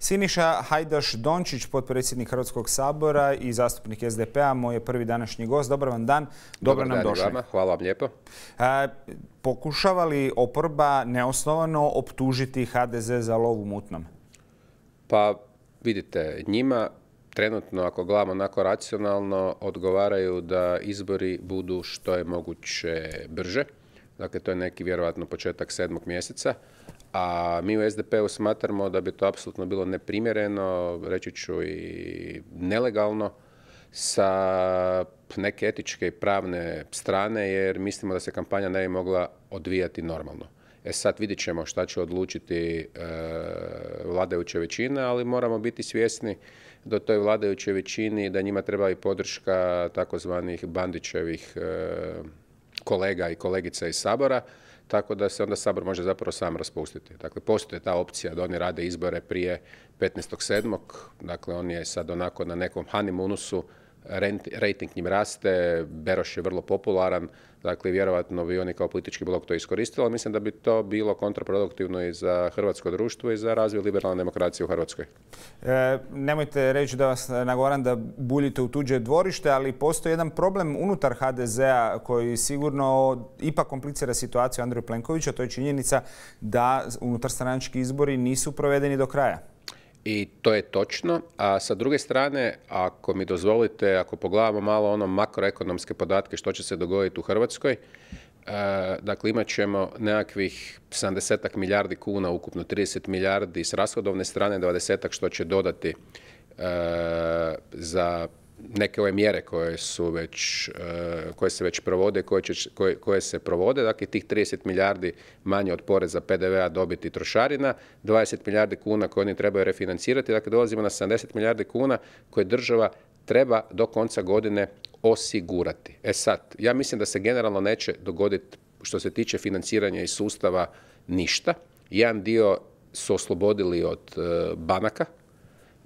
Siniša Hajdaš Dončić, potpredsjednik Hrvatskog sabora i zastupnik SDP-a, moj je prvi današnji gost. Dobar vam dan, dobro nam došli. Hvala vam lijepo. Pokušava li oporba neosnovano optužiti HDZ za lov u mutnom? Pa vidite, njima trenutno, ako gledamo onako racionalno, odgovaraju da izbori budu što je moguće brže. Dakle, to je neki vjerojatno početak 7. mjeseca. A mi u SDP-u smatramo da bi to apsolutno bilo neprimjereno, reći ću i nelegalno, sa neke etičke i pravne strane, jer mislimo da se kampanja ne bi mogla odvijati normalno. Sad vidjet ćemo šta će odlučiti vladajuća većina, ali moramo biti svjesni da toj vladajućoj većini da njima treba i podrška takozvanih Bandićevih kolega i kolegica iz Sabora, tako da se onda Sabor može zapravo sam raspustiti. Dakle, postoji ta opcija da oni rade izbore prije 15.7. Dakle, on je sad onako na nekom honeymoonusu, rejting njim raste, Beroš je vrlo popularan, dakle, vjerojatno bi oni kao politički blok to iskoristili, ali mislim da bi to bilo kontraproduktivno i za hrvatsko društvo i za razvoj liberalne demokracije u Hrvatskoj. Nemojte reći da vas nagovaram da buljite u tuđe dvorište, ali postoji jedan problem unutar HDZ-a koji sigurno ipak komplicira situaciju Andreju Plenkoviću, a to je činjenica da unutarstranački izbori nisu provedeni do kraja. I to je točno, a sa druge strane, ako mi dozvolite, ako pogledamo malo ono makroekonomske podatke što će se dogoditi u Hrvatskoj, dakle imat ćemo nekakvih 70 milijardi kuna, ukupno 30 milijardi s rashodovne strane, 20 što će dodati za neke ove mjere koje se već provode, koje se provode, dakle tih 30 milijardi manje od poreza PDV-a dobiti trošarina, 20 milijardi kuna koje oni trebaju refinancirati, dakle dolazimo na 70 milijardi kuna koje država treba do konca godine osigurati. Sad, ja mislim da se generalno neće dogoditi što se tiče financiranja iz sustava ništa. Jedan dio su oslobodili od banaka,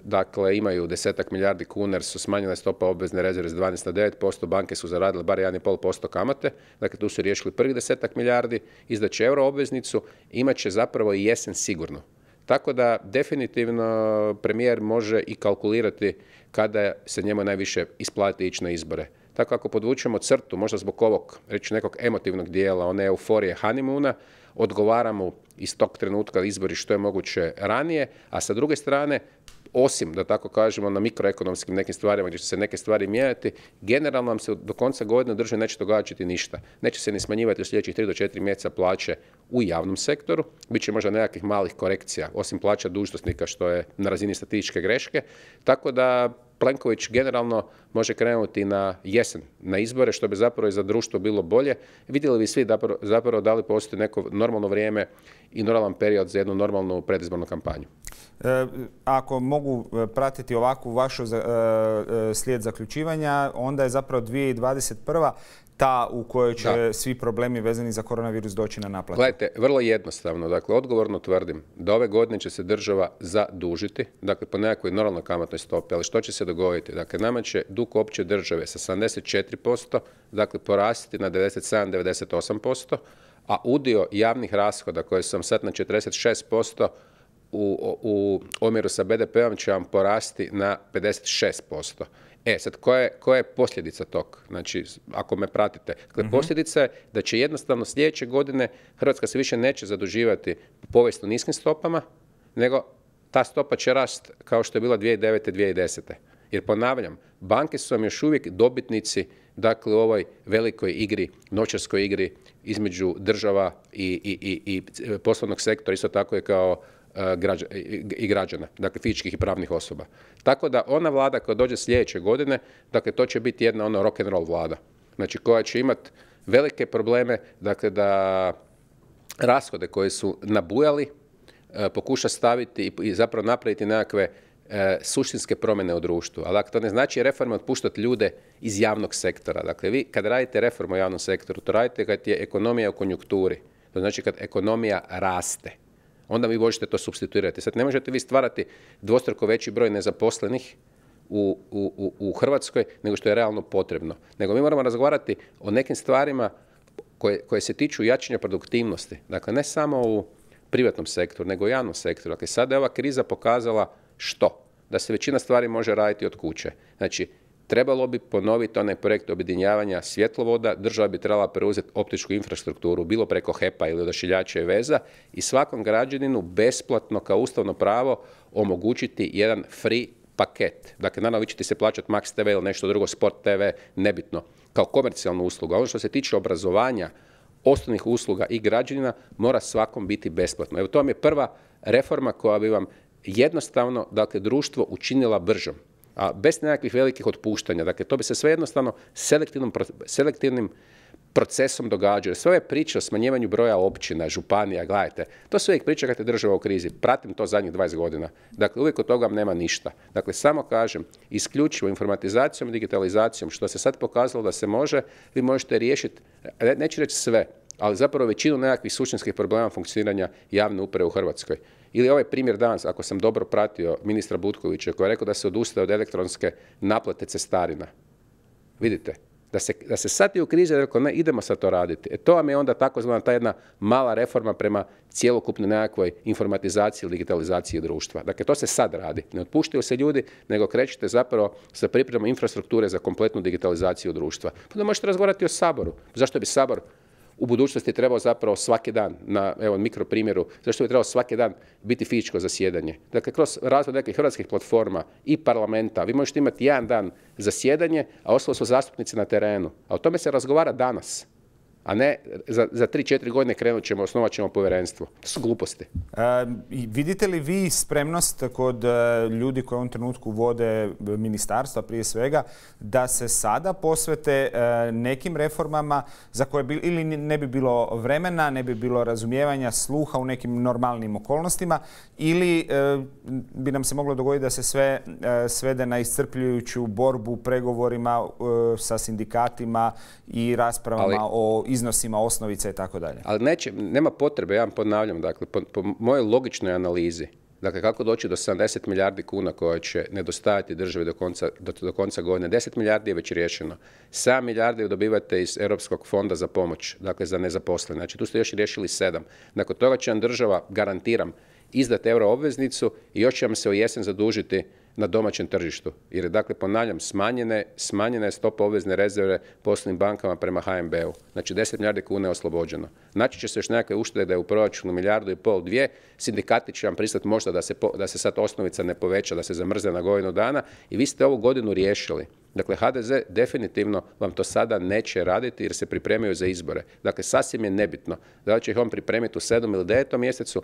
dakle imaju 10 milijardi kuna jer su smanjene stopa obvezne rezerve s 12 na 9%, banke su zaradile bar 1,5% kamate, dakle tu su riješili prvih 10 milijardi, izdaće euro obveznicu, imat će zapravo i jesen sigurno. Tako da definitivno premijer može i kalkulirati kada se njemu najviše isplati ići na izbore. Tako ako podvučemo crtu, možda zbog ovog, reći nekog emotivnog dijela, one euforije honeymoona, odgovaramo iz tog trenutka izbori što je moguće ranije, a sa druge strane, osim, da tako kažemo, na mikroekonomskim nekim stvarima gdje će se neke stvari mijenjati, generalno nam se do konca godine države neće događati ništa. Neće se ni smanjivati u sljedećih 3 do 4 mjeseca plaće u javnom sektoru, bit će možda nekakvih malih korekcija, osim plaća dužnosnika što je na razini statističke greške, tako da Plenković generalno može krenuti na jesen, na izbore, što bi zapravo i za društvo bilo bolje. Vidjeli bi svi zapravo da li postoji neko normalno vrijeme i normalan period za jednu normalnu predizbornu kampanju. Ako mogu pratiti ovakvu vašu slijed zaključivanja, onda je zapravo 2021. ta u kojoj će svi problemi vezani za koronavirus doći na naplatu. Gledajte, vrlo jednostavno, dakle, odgovorno tvrdim da ove godine će se država zadužiti, dakle, po nekakvoj normalnoj kamatnoj stopi, ali što će se dogoditi? Dakle, nama će dug opće države sa 74%, dakle, porasti na 97-98%, a udio javnih rashoda koji sam sad na 46%, u omjeru sa BDP-om će vam porasti na 56%. Sad, koja je posljedica tog? Znači, ako me pratite. Dakle, posljedica je da će jednostavno sljedeće godine Hrvatska se više neće zaduživati po povijesno niskim stopama, nego ta stopa će rast kao što je bila 2009. 2010. Jer ponavljam, banke su vam još uvijek dobitnici, dakle, u ovoj velikoj igri, novčarskoj igri između država i poslovnog sektora, isto tako je kao i građana, dakle fizičkih i pravnih osoba. Tako da ona vlada koja dođe sljedeće godine, dakle to će biti jedna ono rock and roll vlada, znači koja će imati velike probleme, dakle da rashode koje su nabujali pokuša staviti i zapravo napraviti nekakve suštinske promjene u društvu. Ali dakle, to ne znači reforma otpuštati ljude iz javnog sektora. Dakle, vi kad radite reformu u javnom sektoru, to radite kad je ekonomija u konjunkturi. To znači kad ekonomija raste. Onda vi možete to supstituirati. Sad ne možete vi stvarati dvostruko veći broj nezaposlenih u Hrvatskoj nego što je realno potrebno. Nego mi moramo razgovarati o nekim stvarima koje se tiču jačanja produktivnosti. Dakle, ne samo u privatnom sektoru, nego u javnom sektoru. Dakle, sada je ova kriza pokazala Što? Da se većina stvari može raditi od kuće. Znači, trebalo bi ponoviti onaj projekt objedinjavanja svjetlovoda, država bi trebala preuzeti optičku infrastrukturu, bilo preko HEP-a ili odašiljača i veza i svakom građaninu besplatno kao ustavno pravo omogućiti jedan free paket. Dakle, naravno vi ćete se plaćati Max TV ili nešto drugo, Sport TV, nebitno, kao komercijalnu uslugu. A ono što se tiče obrazovanja, osnovnih usluga i građanina mora svakom biti besplatno. Evo to vam je prva reforma koja bi vam jednostavno, dakle, društvo učinila bržom, a bez nekakvih velikih otpuštanja. Dakle, to bi se sve jednostavno selektivnim procesom događa. Sve ove priče o smanjivanju broja općina, županija, gledajte, to sve uvijek priča kad je država u krizi. Pratim to zadnjih 20 godina. Dakle, uvijek od toga nema ništa. Dakle, samo kažem, isključivo informatizacijom i digitalizacijom, što se sad pokazalo da se može, vi možete riješiti, neću reći sve, ali zapravo većinu nekakvih suštinskih problema funkcioniranja javne uprave u Hrvatskoj. Ili ovaj primjer danas, ako sam dobro pratio ministra Butkovića, koji je rekao da se odustaje od elektronske naplate cestarina. Vidite, da se sad je u krizi rekao ne, idemo sad to raditi. To vam je onda takozvana ta jedna mala reforma prema cjelokupnoj nekakvoj informatizaciji ili digitalizaciji društva. Dakle, to se sad radi. Ne otpuštaju se ljudi, nego krećete zapravo sa pripremom infrastrukture za kompletnu digitalizaciju društva. Pa da možete razgovarati o Saboru. Zašto bi Sabor u budućnosti trebao zapravo svaki dan, na evo mikro primjeru, zašto bi trebao svaki dan biti fizičko zasjedanje. Dakle, kroz razvoj nekih hrvatskih platforma i parlamenta, vi možete imati jedan dan zasjedanje, a ostalo su zastupnici na terenu. A o tome se razgovara danas, a ne za 3-4 godine osnovat ćemo povjerenstvo. To su gluposti. Vidite li vi spremnost kod ljudi koji u ovom trenutku vode ministarstva prije svega da se sada posvete nekim reformama za koje ili ne bi bilo vremena, ne bi bilo razumijevanja, sluha u nekim normalnim okolnostima ili bi nam se moglo dogoditi da se sve svede na iscrpljujuću borbu, pregovorima sa sindikatima i raspravama o iznosima, osnovice i tako dalje. Ali nema potrebe, ja vam ponavljam, dakle, po mojoj logičnoj analizi, dakle, kako doći do 70 milijardi kuna koje će nedostajati državi do konca godine. 10 milijardi je već riješeno. 7 milijardi dobivate iz Europskog fonda za pomoć, dakle, za nezaposlene. Znači, tu ste još riješili 7. Nakon toga će vam država, garantiram, izdati euro obveznicu i još će vam se u jesen zadužiti na domaćem tržištu. Jer je, dakle, ponavljam, smanjena je stopa obvezne rezerve poslovnim bankama prema HNB-u. Znači, 10 milijardi kuna je oslobođeno. Naći će se još nekakve uštede da je u proračunu 1,5 milijardu, 2. Sindikati će vam pristati možda da se sad osnovica ne poveća, da se zamrzne na godinu dana i vi ste ovu godinu riješili. Dakle, HDZ definitivno vam to sada neće raditi jer se pripremaju za izbore. Dakle, sasvim je nebitno da li će ih on pripremiti u 7. ili 9. mjesecu,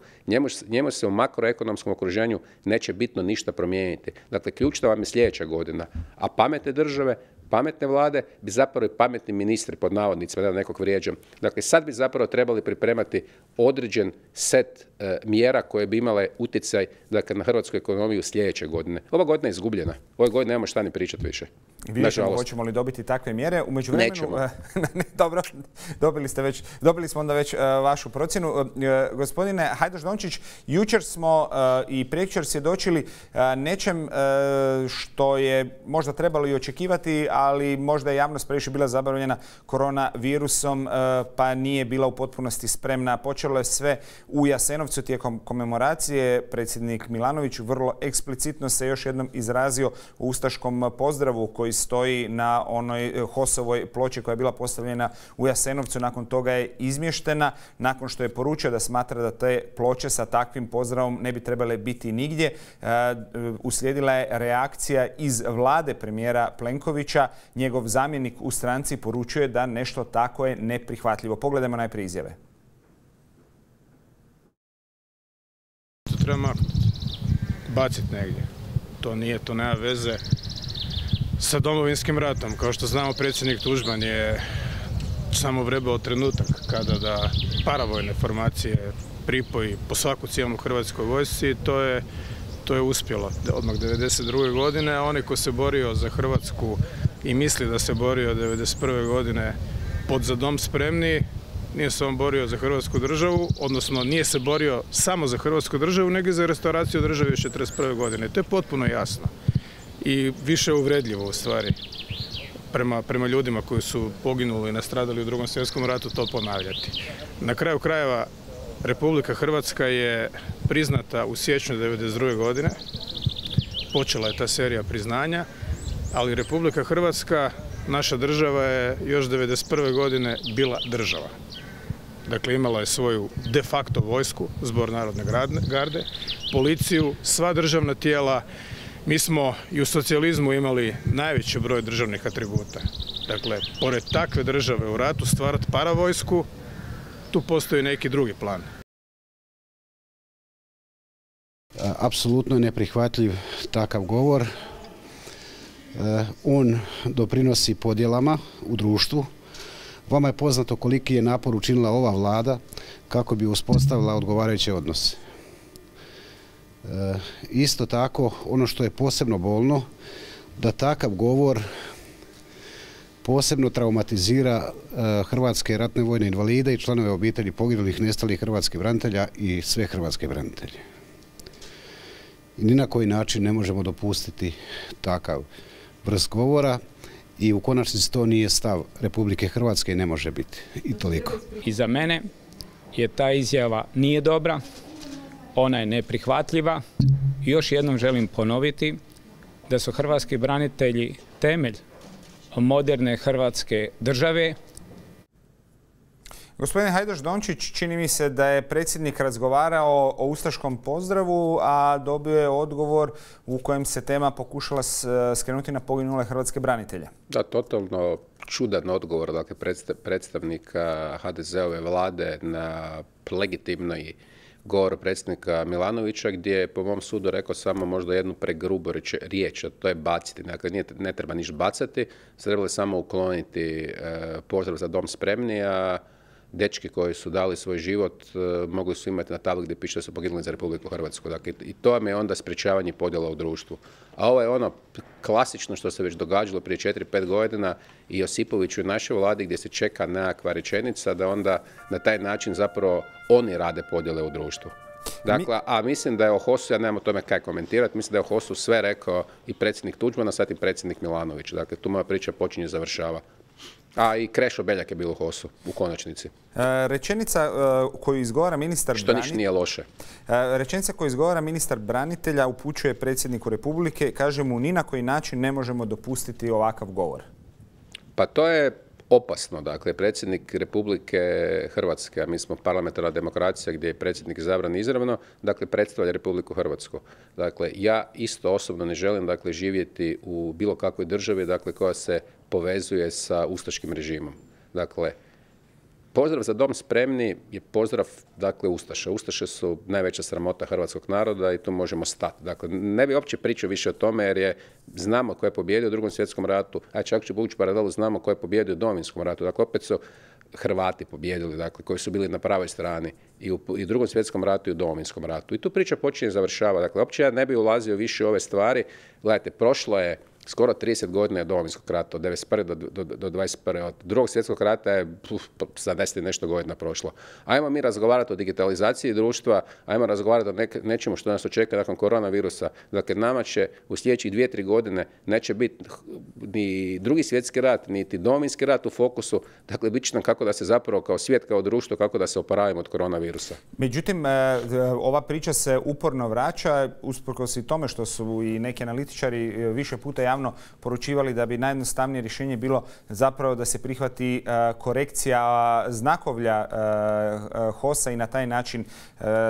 njemu se u makroekonomskom okruženju neće bitno ništa promijeniti. Dakle, ključna vam je sljedeća godina. A pametne države, pametne vlade bi zapravo i pametni ministri, pod navodnicima, da nekog vrijeđam. Dakle, sad bi zapravo trebali pripremati određen set mjera koje bi imale utjecaj, dakle, na hrvatsku ekonomiju sljedeće godine. Ova godina je izgubljena. Ove godine nemamo šta ni pričati više. Vidjet ćemo hoćemo li dobiti takve mjere. U međuvremenu, dobro, dobili smo onda već vašu procjenu. Gospodine Hajdaš-Dončić, jučer smo i prekjučer svjedočili nečem što je možda trebalo i očekivati, ali možda je javnost previše bila zabavljena koronavirusom, pa nije bila u potpunosti spremna. Počelo je sve u Jasenovcu tijekom komemoracije. Predsjednik Milanović vrlo eksplicitno se još jednom izrazio u ustaškom pozdravu koji stoji na onoj HOS-ovoj ploči koja je bila postavljena u Jasenovcu. Nakon toga je izmještena, nakon što je poručio da smatra da te ploče sa takvim pozdravom ne bi trebale biti nigdje. Uslijedila je reakcija iz vlade premijera Plenkovića. Njegov zamjenik u stranci poručuje da nešto tako je neprihvatljivo. Pogledajmo najprije izjave. To treba maknuti, baciti negdje. To nema veze sa Domovinskim ratom. Kao što znamo, predsjednik Tuđman je samo vrebao trenutak kada da paravojne formacije pripoji po svaku cijenu Hrvatskoj vojsci i to je uspjelo odmah 1992. godine, a onaj ko se borio za Hrvatsku i misli da se borio 1991. godine pod Za dom spremni, nije se on borio za Hrvatsku državu, odnosno nije se borio samo za Hrvatsku državu, nego i za restauraciju države još 1941. godine. To je potpuno jasno i više uvredljivo u stvari prema ljudima koji su poginuli i nastradali u Drugom svjetskom ratu to ponavljati. Na kraju krajeva Republika Hrvatska je priznata u siječnju 1992. godine počela je ta serija priznanja, ali Republika Hrvatska, naša država je još 1991. godine bila država. Dakle, imala je svoju de facto vojsku, Zbor narodne garde, policiju, sva državna tijela. Mi smo i u socijalizmu imali najveći broj državnih atributa. Dakle, pored takve države u ratu stvarati paravojsku, tu postoji neki drugi plan. Apsolutno je neprihvatljiv takav govor. On doprinosi podjelama u društvu. Vama je poznato koliki je napor učinila ova vlada kako bi uspostavila odgovarajuće odnose. Isto tako, ono što je posebno bolno, da takav govor posebno traumatizira hrvatske ratne vojne invalide i članove obitelji poginulih, nestalih hrvatskih branitelja i sve hrvatske branitelje. I ni na koji način ne možemo dopustiti takav vrst govora i u konačnici to nije stav Republike Hrvatske i ne može biti. I toliko. I za mene je ta izjava nije dobra, ona je neprihvatljiva. I još jednom želim ponoviti da su hrvatski branitelji temelj moderne hrvatske države. Gospodine Hajdaš Dončić, čini mi se da je predsjednik razgovarao o ustaškom pozdravu, a dobio je odgovor u kojem se tema pokušala skrenuti na poginule hrvatske branitelje. Da, totalno čudan odgovor, dakle, predstavnika HDZ-ove vlade na legitimni govor predsjednika Milanovića, gdje je po mom sudu rekao samo možda jednu pregrubu riječ, a to je baciti. Dakle, ne treba ništa bacati, trebali samo ukloniti pozdrav za dom spremni, a dečki koji su dali svoj život mogli su imati na tabli gdje piše da su poginuli za Republiku Hrvatsku. Dakle, i to vam je onda sprječavanje podjela u društvu. A ovo je ono klasično što se već događalo prije 4-5 godina i Josipoviću i našoj vladi, gdje se čeka nekakva rečenica da onda na taj način zapravo oni rade podjele u društvu. Dakle, a mislim da je o HOS-u, ja nemam o tome kaj komentirati, mislim da je o HOS-u sve rekao i predsjednik Tuđman, a sad i predsjednik Milanović. Dakle, tu moja priča počinje i završava. A i Krešo Beljak je bilo u HOS-u, u konačnici. Rečenica koju izgovara ministar što ništa nije loše. Rečenica koju izgovara ministar branitelja upućuje predsjedniku Republike, kaže mu ni na koji način ne možemo dopustiti ovakav govor. Pa to je opasno. Dakle, predsjednik Republike Hrvatske, a mi smo parlamentarna demokracija gdje je predsjednik izabran izravno, dakle, predstavlja Republiku Hrvatsku. Dakle, ja isto osobno ne želim, dakle, živjeti u bilo kakvoj državi, dakle, koja se povezuje sa ustaškim režimom. Dakle, pozdrav za dom spremni je pozdrav, dakle, Ustaša. Ustaše su najveća sramota hrvatskog naroda i tu možemo stati. Dakle, ne bi uopće pričao više o tome jer znamo ko je pobijedio u Drugom svjetskom ratu, a čak ću povući paralelu, znamo ko je pobijedio u Domovinskom ratu. Dakle, opet su Hrvati pobijedili, dakle, koji su bili na pravoj strani i u Drugom svjetskom ratu i u Domovinskom ratu. I tu priča počinje i završava. Dakle, uopće ja ne bi ulazio više u ove stvari. Gledajte, prošlo je skoro 30 godina je Domovinskog rata, od 1991. do 1921. Od Drugog svjetskog rata je 70 nešto godina prošlo. Ajmo mi razgovarati o digitalizaciji društva, ajmo razgovarati o nečemu što nas očeka nakon koronavirusa. Dakle, nama će u sljedećih 2-3 godine neće biti ni Drugi svjetski rat, niti Domovinski rat u fokusu. Dakle, bit će nam kako da se zapravo kao svijet, kao društvo, kako da se oporavimo od koronavirusa. Međutim, ova priča se uporno vraća, usprkos i tome što su i neki analitičari više puta javno poručivali da bi najjednostavnije rješenje bilo zapravo da se prihvati korekcija znakovlja HOS-a i na taj način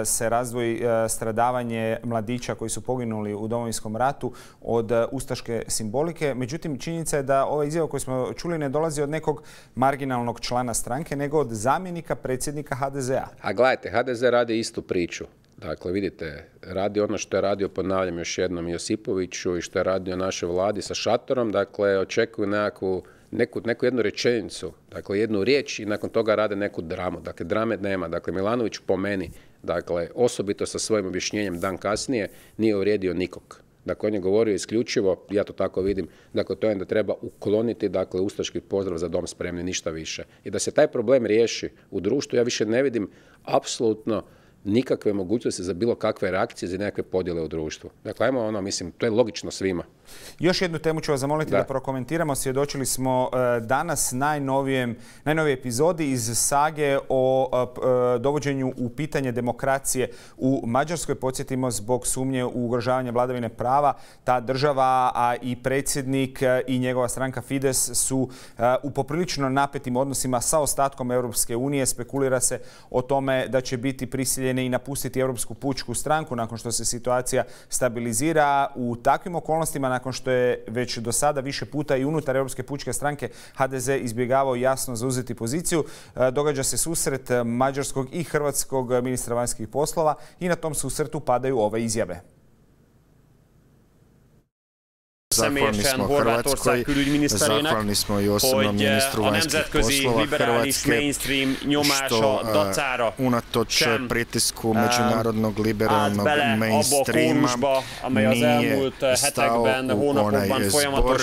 se razdvoji stradavanje mladića koji su poginuli u Domovinskom ratu od ustaške simbolike. Međutim, činjenica je da ova izjava koju smo čuli ne dolazi od nekog marginalnog člana stranke, nego od zamjenika predsjednika HDZ-a. A gledajte, HDZ radi istu priču. Dakle, vidite, radi ono što je radio, ponavljam još jednom, Josipoviću i što je radio našoj vladi sa šatorom. Dakle, očekuju neku jednu rečenicu, dakle, jednu riječ i nakon toga rade neku dramu. Dakle, drame nema. Dakle, Milanović po meni, dakle, osobito sa svojim objašnjenjem dan kasnije, nije uvrijedio nikog. Dakle, on je govorio isključivo, ja to tako vidim, dakle, to je da treba ukloniti, dakle, ustaški pozdrav za dom spremni, ništa više. I da se taj problem riješi u društvu, ja više ne vidim apsolutno nikakve mogućnosti za bilo kakve reakcije, za nekakve podjele u društvu. Dakle, ajmo mislim, to je logično svima. Još jednu temu ću vas zamoliti da prokomentiramo. Svjedočili smo danas najnovijoj epizodi iz sage o dovođenju u pitanje demokracije u Mađarskoj. Podsjetimo, zbog sumnje u ugrožavanje vladavine prava, ta država, a i predsjednik i njegova stranka Fides su u poprilično napetim odnosima sa ostatkom Europske unije. Spekulira se o tome da će biti prisiljeni i napustiti Europsku pučku stranku nakon što se situacija stabilizira. U takvim okolnostima, nakon što je već do sada više puta i unutar Europske pučke stranke HDZ izbjegavao jasno zauzeti poziciju, događa se susret mađarskog i hrvatskog ministra vanjskih poslova i na tom susretu padaju ove izjave. Zahvalni smo Hrvatskoj, zahvalni smo i osobnom ministru vanjskih poslova Hrvatske, što unatoč pritisku međunarodnog liberalnog mainstreama nije stao u onaj zbor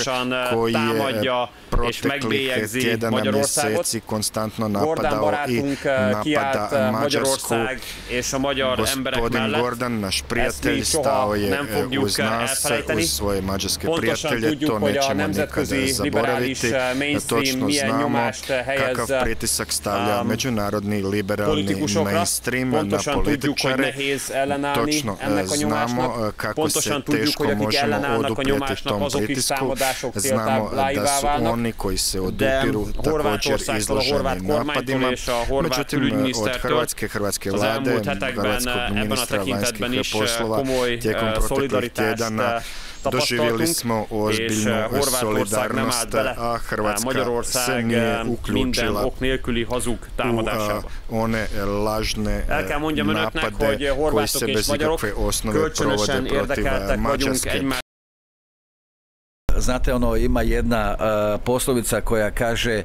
koji je proteklih tjedana, mjeseci konstantno napadao i napada Mađarsku. Gospodin Gordan, naš prijatelj, stao je uz nas, uz svoje mađarske prijatelje, to nećemo nikada zaboraviti. Točno znamo kakav pritisak stavlja međunarodni liberalni mainstream na političare. Točno znamo kako se teško možemo oduprijeti tom pritisku. Znamo da su oni koji se odupiru također izloženi napadima. Međutim, od hrvatske vlade, hrvatskog ministra vanjskih poslova tijekom proteklih tjedana doživjeli smo ozbiljnu solidarnost, a Hrvatska se nije uključila u one lažne napade koji se bez ikakve osnove provode protiv Mađarske. Znate, ima jedna poslovica koja kaže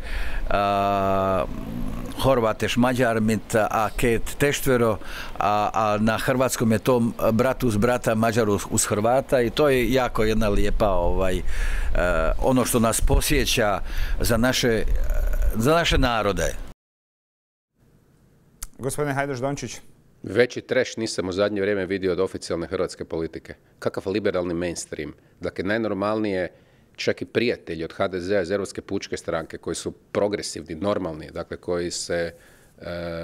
Horvateš Mađar mit a ket teštvero, a na hrvatskom je to brat uz brata, Mađar uz Hrvata, i to je jako jedna lijepa ono što nas posjeća za naše narode. Gospodine Hajdaš-Dončić. Veći treš nisam u zadnje vrijeme vidio od oficijalne hrvatske politike. Kakav liberalni mainstream. Dakle, najnormalnije, čak i prijatelji od HDZ-a iz Europske pučke stranke koji su progresivni, normalni, dakle koji se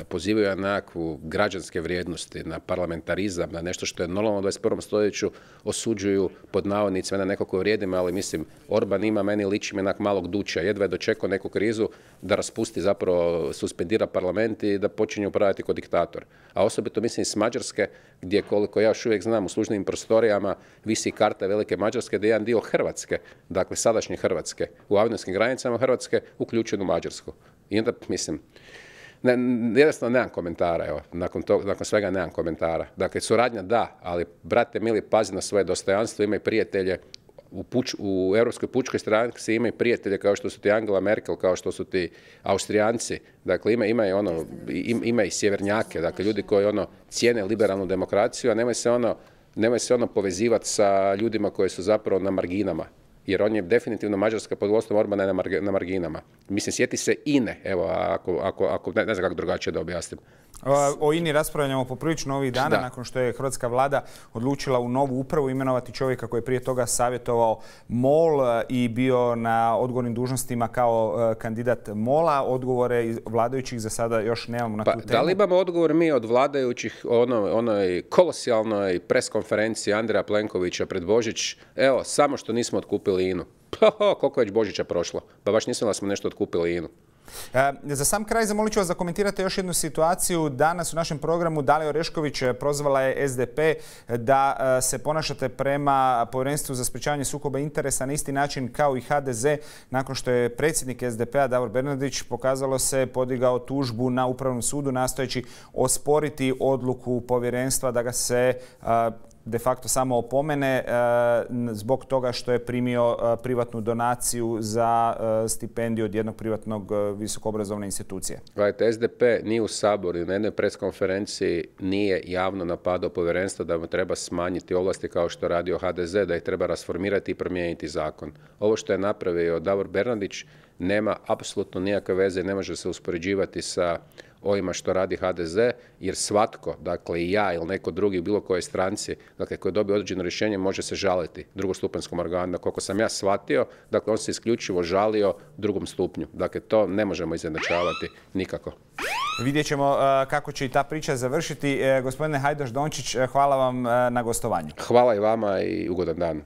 pozivaju na nekakvu građanske vrijednosti, na parlamentarizam, na nešto što je normalno u 21. stoljeću, osuđuju pod navodnicima na nekako vrijedima, ali mislim, Orban ima, meni liči me malog duća, jedva je dočekao neku krizu da raspusti, zapravo suspendira parlament i da počinje upravljati kao diktator. A osobito mislim s Mađarske, gdje koliko ja još uvijek znam u službenim prostorijama visi karta velike Mađarske, da je jedan dio Hrvatske, dakle sadašnje Hrvatske, u avnijskim granicama Hrvatske uključen u Mađarsku. I onda mislim, jednostavno nemam komentara, evo, nakon svega nemam komentara. Dakle, suradnja da, ali brate mili, pazi na svoje dostojanstvo, imaj prijatelje u Europskoj pučkoj stranci, imaju prijatelje kao što su ti Angela Merkel, kao što su ti Austrijanci, dakle ima i sjevernjake, dakle ljudi koji cijene liberalnu demokraciju, a nemoj se povezivati sa ljudima koji su zapravo na marginama. Jer on je definitivno Mađarska pod vodstvom Orbana na marginama. Mislim, sjeti se INE, evo, ako ne znam kako drugačije da objasnim. O INI raspravljamo poprilično ovih dana, nakon što je hrvatska vlada odlučila u novu upravu imenovati čovjeka koji je prije toga savjetovao MOL i bio na odgovornim dužnostima kao kandidat MOL-a. Odgovore vladajućih za sada još nemamo na tu temu. Da li imamo odgovor mi od vladajućih onoj kolosijalnoj preskonferenciji Andreja Plenkovića pred Božić? Evo, samo što nismo otkupili INU. Koliko je već Božića prošlo? Pa baš nisam da smo nešto otkupili INU. Za sam kraj zamolit ću vas da komentirate još jednu situaciju. Danas u našem programu Dalija Orešković prozvala je SDP da se ponašate prema Povjerenstvu za sprječavanje sukoba interesa na isti način kao i HDZ. Nakon što je predsjednik SDP-a Davor Bernardić, pokazalo se, podigao tužbu na Upravnom sudu nastojeći osporiti odluku Povjerenstva da ga se de facto samo opomene zbog toga što je primio privatnu donaciju za stipendiju od jednog privatnog visokoobrazovne institucije. Gledajte, SDP nije u Saboru i na jednoj preskonferenciji nije javno napadao povjerenstvo da mu treba smanjiti ovlasti kao što radio HDZ, da ih treba rasformirati i promijeniti zakon. Ovo što je napravio Davor Bernardić nema apsolutno nikakve veze, ne može se uspoređivati sa ovima što radi HDZ, jer svatko, dakle i ja ili neko drugi u bilo kojoj stranci, dakle koji dobije određeno rješenje može se žaliti drugostupanjskom organu. Koliko sam ja shvatio, dakle on se isključivo žalio drugom stupnju. Dakle to ne možemo izjednačavati nikako. Vidjet ćemo kako će i ta priča završiti. Gospodine Hajdaš Dončić, hvala vam na gostovanju. Hvala i vama i ugodan dan.